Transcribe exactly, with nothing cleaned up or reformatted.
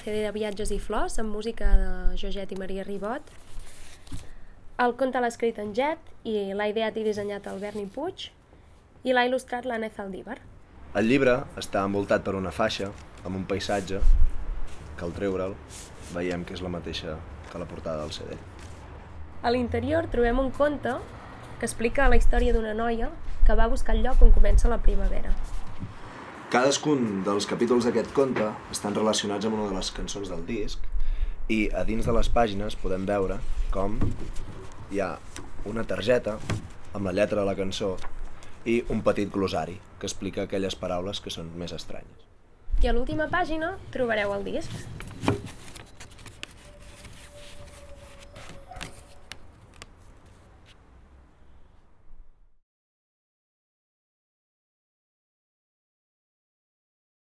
C D de Viatges i Flors, amb música de Joget i Maria Ribot. El conte l'ha escrit en Jet i l'ha ideat i dissenyat el Berni Puig i l'ha il·lustrat l'Anna Zaldívar. El llibre està envoltat per una faixa amb un paisatge que al treure'l veiem que és la mateixa que la portada del C D. A l'interior trobem un conte que explica la història d'una noia que va buscar el lloc on comença la primavera. Cadascun dels capítols d'aquest conte estan relacionats amb una de les cançons del disc i a dins de les pàgines podem veure com hi ha una targeta amb la lletra de la cançó i un petit glossari que explica aquelles paraules que són més estranyes. I a l'última pàgina trobareu el disc.